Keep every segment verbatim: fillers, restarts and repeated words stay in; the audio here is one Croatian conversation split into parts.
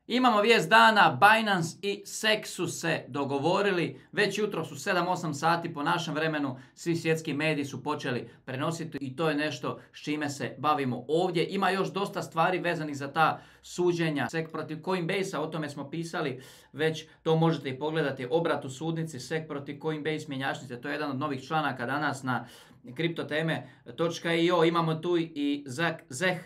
Imamo vijest dana, Binance i S E C su se dogovorili, već jutro su sedam osam sati po našem vremenu, svi svjetski mediji su počeli prenositi i to je nešto s čime se bavimo ovdje. Ima još dosta stvari vezanih za ta suđenja. S E C protiv Coinbase-a, o tome smo pisali, već to možete i pogledati, obrat u sudnici, S E C protiv Coinbase mjenjačnice, to je jedan od novih članaka danas na kriptoteme točka i o. Imamo tu i Zeh,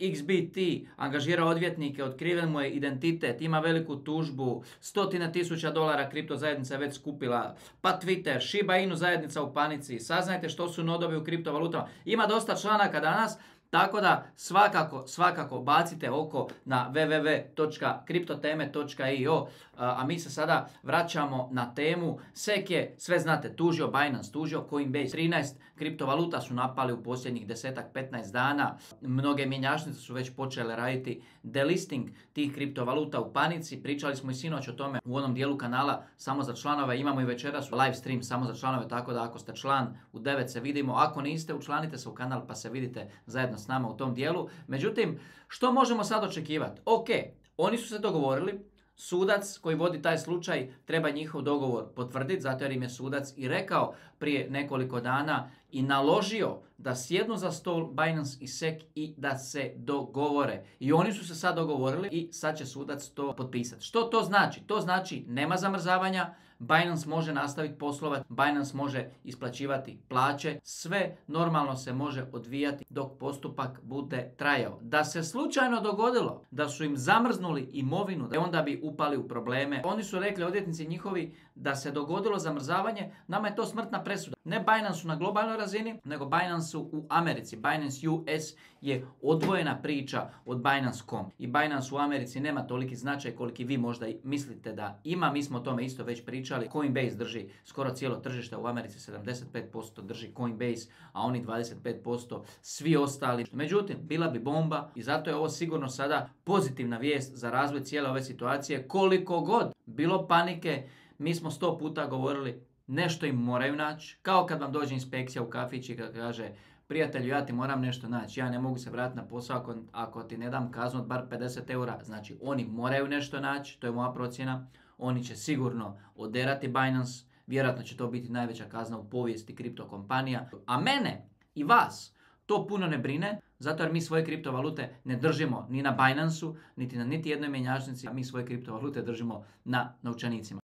X B T angažira odvjetnike, otkriven mu je identitet, ima veliku tužbu, stotina tisuća dolara kripto zajednica je već skupila, pa Twitter, Shiba Inu zajednica u panici, saznajte što su nodovi u kriptovalutama. Ima dosta članaka danas, tako da svakako, svakako bacite oko na w w w točka kriptoteme točka i o, a mi se sada vraćamo na temu. S E C je, sve znate, tužio Binance, tužio Coinbase, trinaest kriptovaluta su napali u posljednjih desetak petnaest dana. Mnoge mjenjačnice su već počele raditi delisting tih kriptovaluta u panici. Pričali smo i sinoć o tome u onom dijelu kanala samo za članove. Imamo i večeras live stream samo za članove, tako da ako ste član u devet se vidimo. Ako niste, učlanite se u kanal pa se vidite zajedno s nama u tom dijelu. Međutim, što možemo sad očekivati? Ok, oni su se dogovorili, sudac koji vodi taj slučaj treba njihov dogovor potvrditi, zato jer im je sudac i rekao prije nekoliko dana i naložio da sjednu za stol Binance i S E C i da se dogovore. I oni su se sad dogovorili i sad će sudac to potpisati. Što to znači? To znači nema zamrzavanja, Binance može nastaviti poslovati, Binance može isplaćivati plaće, sve normalno se može odvijati dok postupak bude trajao. Da se slučajno dogodilo da su im zamrznuli imovinu, onda bi upali u probleme. Oni su rekli, odvjetnici njihovi, da se dogodilo zamrzavanje, nama je to smrtna presuda. Ne Binance na globalnoj razini, nego Binance u Americi. Binance U S je odvojena priča od Binance dot com. I Binance u Americi nema toliki značaj koliki vi možda mislite da ima. Mi smo o tome isto već pričali. Coinbase drži skoro cijelo tržište u Americi, sedamdeset pet posto drži Coinbase, a oni dvadeset pet posto svi ostali. Međutim, bila bi bomba i zato je ovo sigurno sada pozitivna vijest za razvoj cijele ove situacije. Koliko god bilo panike, mi smo sto puta govorili, nešto im moraju naći. Kao kad vam dođe inspekcija u kafić i kad kaže, prijatelju, ja ti moram nešto naći, ja ne mogu se vratiti na posao ako, ako ti ne dam kaznu od bar pedeset eura. Znači, oni moraju nešto naći, to je moja procjena. Oni će sigurno oderati Binance, vjerojatno će to biti najveća kazna u povijesti kripto kompanija. A mene i vas to puno ne brine, zato jer mi svoje kriptovalute ne držimo ni na Binance-u, niti na niti jednoj mjenjačnici, a mi svoje kriptovalute držimo na novčanicima.